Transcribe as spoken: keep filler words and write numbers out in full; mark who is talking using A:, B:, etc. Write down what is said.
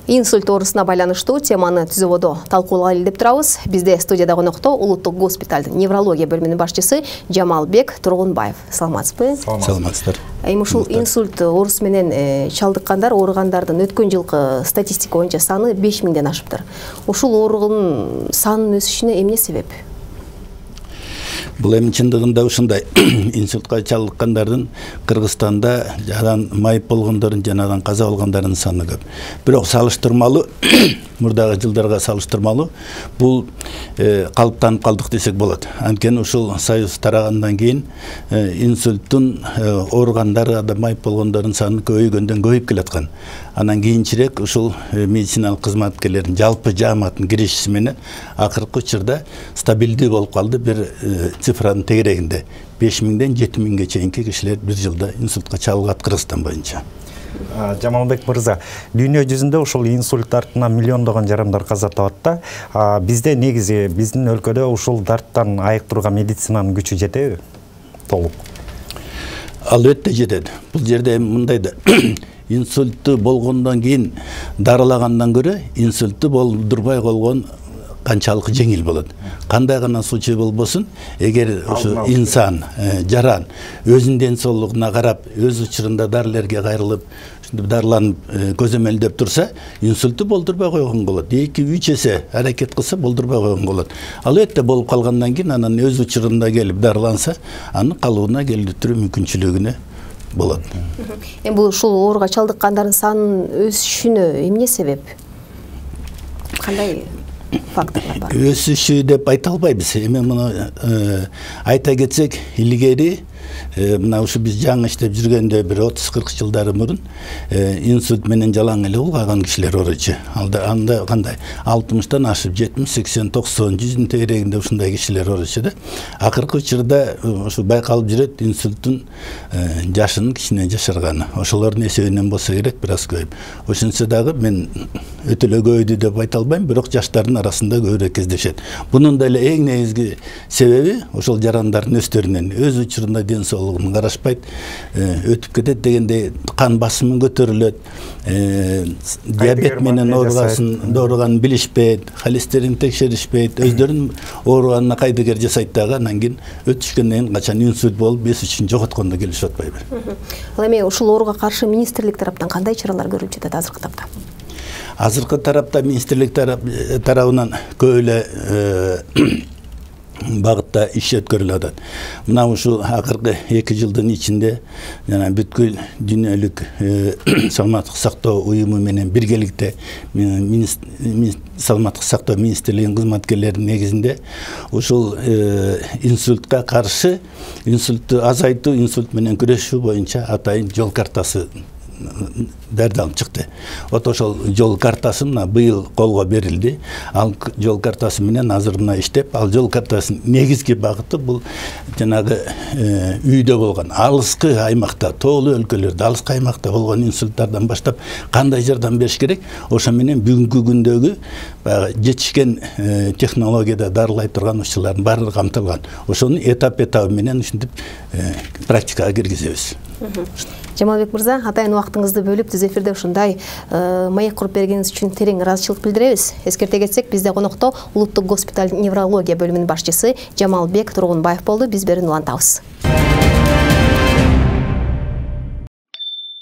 A: Инсульт оорусуна байланыштуу теманы түзүүбөдө талкуулайлы деп турабыз. Бизде студияда конокто улуттук госпиталдын неврология бөлүмүнүн башчысы Жамалбек Тургунбаев. Саламатсызбы?
B: Саламатсыздар.
A: Эми ушул инсульт оорусу менен чалдыккандар, ооругандардын өткөн жылкы статистика боюнча саны беш миңден ашыптыр. Ушул оорунун санынын өсүшүнө эмне себеп?
B: Бул эми чындыгында ушундай инсультка чалдыккандардын Кыргызстанда жадан майып болгондордун жанадан каза болгондордун саны көп. Бирок салыштырмалуу мурдагы жылдарга салыштырмалуу бул калыптанып калдык десек болот. Анткени ушул союз тарагандан кийин инсульттун ооругандары да майып болгондордун саны көбөйгөндөн көбөйүп келаткан. Анан кийинчерээк ушул медициналык кызматкерлердин жалпы жааматтын киришиси менен акыркы учурда стабилдүү болуп калды. Бир цифранын тегерегинде беш миңден жети миңге чейинки кишилер бир жылда инсультка чалдыгат Кыргызстан боюнча.
C: Жамалбек мырза, дүйнө жүзүндө ушул инсульт дартынан миллиондогон жарандар каза табат да. Бизде негизи биздин өлкөдө ушул дарттан айыктырууга медицинанын күчү жетеби? Толук.
B: Албетте жетет. Бул жерде мындай да инсультту болгондон кийин дарылагандан көрө инсультту болдурбай койгон канчалык жеңил болот. Кандай гана случай болбосун, эгер ушу инсан, жаран өзүнүн ден соолугуна карап, өз учурунда дарылерге кайрылып, дарыланып көзөмөлдөп турса, инсультту болдурбай койгон болот. эки үч эсе аракет кылса болдурбай койгон болот. Албетте болуп калгандан кийин анан өз учурунда келип дарыланса, анын калыбына келтирүү мүмкүнчүлүгүнө болот.
A: Эми бул ушул ооруга чалдыккандардын санынын өсүшүнө эмне себеп? Кандай факторлар бар?
B: Өсүшү деп айта албайбыз. Эми муну айта кетсек, илгери мына ушу биз жаңы иштеп жүргөндө бир отуз кырк жылдары мурун инсульт менен жалаң эле улгайган кишилер ооручу. Анда кандай алтымыштан ашып жетимиш, сексен, токсон, жүздүн тегерегинде ушундай кишилер ооручу да. Акыркы учурда ушу байкалып жүрөт инсульттун жашынын кичине жашарганы. Ошолордун эсебинен болсо керек, бир аз көбөйүп. Ошентсе дагы мен өтө эле көбөйдү деп айта албайм, бирок жаштардын арасында көбүрөөк кездешет. Бунун деле эң негизги себеби ошол жарандардын өздөрүнөн өз учурунда ден соолугун карашпайт, өтүп кетет дегенде кан басымы көтөрүлөт, диабет менен ооругасын дооруганын билишпейт, холестерин текшеришпейт, өздөрүнүн ооруганына кайдыгер жасайт дагы, анан кийин өтүшкөндөн кийин качан инсульт болуп эс үчүн жоготкондо келишип атпайбы.
A: Ал эми ушул ооруга каршы министрлик тараптан кандай чаралар көрүлүп жатат азыркы тапта?
B: Азыркы тарапта министрлик тарабынан көп эле багытта иш өткөрүлүп атат. Мына ушул акыркы эки жылдын ичинде жана бүткүл дүйнөлүк саламаттык сактоо уюму менен биргеликте саламаттык сактоо министрлигинин кызматкерлеринин негизинде ушул инсультка каршы, инсультту азайтуу, инсульт менен күрөшүү боюнча атайын жол картасы даярдалып чыкты. Вот ошол жол картасы мына быйыл колго берилди. Ал жол картасы менен азыр мына иштеп, ал жол картасынын негизги багыты бул жанагы үйдө болгон алыскы аймакта, тоолуу өлкөлөрдө, алыскы аймакта болгон инсульттардан баштап кандай жардам бериш керек, ошо менен бүгүнкү күндөгү баягы жетишкен технологияда дарылай турган ушулардын баардыгы камтылган. Ошонун этап этабы менен ушинтип практикага киргизебиз.
A: Жамалбек мырза, атайын убактыңызды бөлүп түз эфирде ушундай маек куруп бергениңиз үчүн терең ыраазычылык билдиребиз. Эскерте кетсек, бизде конокто улуттук госпиталь неврология бөлүмүнүн башчысы Жамалбек Тургунбаев болду. Биз берүүнү улантабыз.